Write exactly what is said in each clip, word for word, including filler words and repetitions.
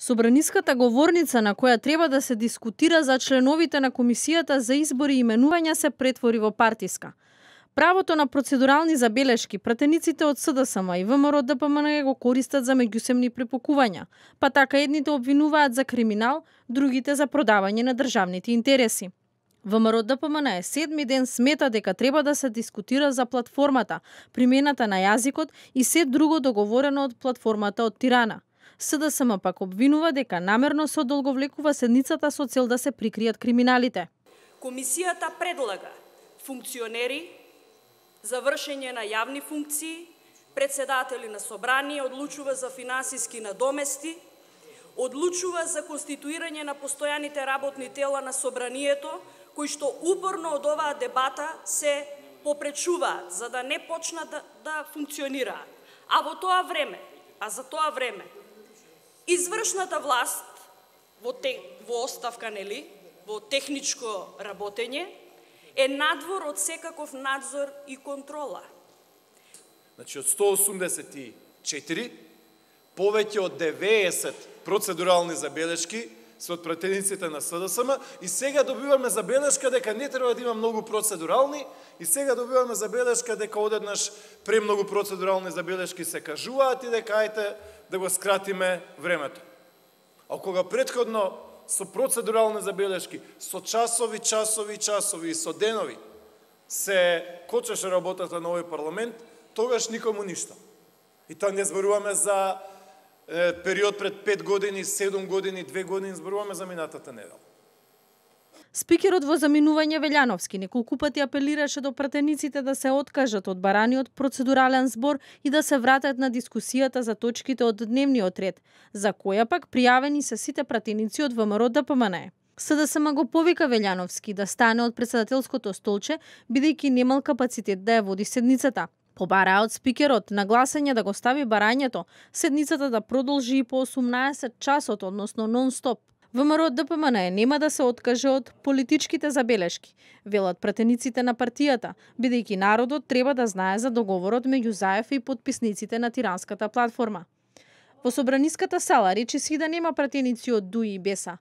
Собраниската говорница на која треба да се дискутира за членовите на Комисијата за избори и именувања се претвори во партиска. Правото на процедурални забелешки пратениците од СДСМ и ВМРО ДПМН го користат за меѓусебни препукувања, па така едните обвинуваат за криминал, другите за продавање на државните интереси. ВМРО ДПМН е седми ден смета дека треба да се дискутира за платформата, примената на јазикот и се друго договорено од платформата од Тирана. СДСМ пак обвинува дека намерно се одолговлекува седницата со цел да се прикријат криминалите. Комисијата предлага функционери за вршење на јавни функции, председатели на собрание, одлучува за финансиски надомести, одлучува за конституирање на постојаните работни тела на собранието, кои што упорно од оваа дебата се попречуваат за да не почнат да, да функционираат. А во тоа време, а за тоа време, извршната власт во, те, во оставка, нели, во техничко работење, е надвор од секаков надзор и контрола. Значи, од сто осумдесет и четири, повеќе од деветдесет процедурални забелешки се од пратениците на СДСМ и сега добиваме забелешка дека не треба да има многу процедурални и сега добиваме забелешка дека одеднаш премногу процедурални забелешки се кажуваат и дека ајте да го скратиме времето. А кога претходно со процедурални забелешки, со часови, часови, часови и со денови се кочеше работата на овој парламент, тогаш никому ништо. И тоа не зборуваме за е, период пред пет години, седум години, две години, зборуваме за минатата недела. Спикерот во заминување Велјановски неколку пати апелираше до пратениците да се откажат од бараниот процедурален збор и да се вратат на дискусијата за точките од дневниот ред, за која пак пријавени се сите пратеници од ВМРО ДПМН. СДСМ го повика Велјановски да стане од председателското столче, бидејќи немал капацитет да ја води седницата. Побараа од спикерот на гласање да го стави барањето, седницата да продолжи и по осумнаесет часот, односно нон-стоп. ВМРО ДПМН нема да се откаже од политичките забелешки, велат пратениците на партијата, бидејќи народот треба да знае за договорот меѓу Заев и подписниците на тиранската платформа. Во собраниската сала речиси да нема пратеници од ДУИ и БЕСА.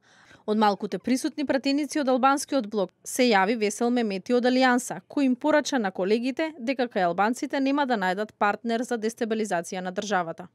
Од малкуте присутни пратеници од албанскиот блок се јави Весел Мемети од Алијанса, кој им порача на колегите дека кај албанците нема да најдат партнер за дестабилизација на државата.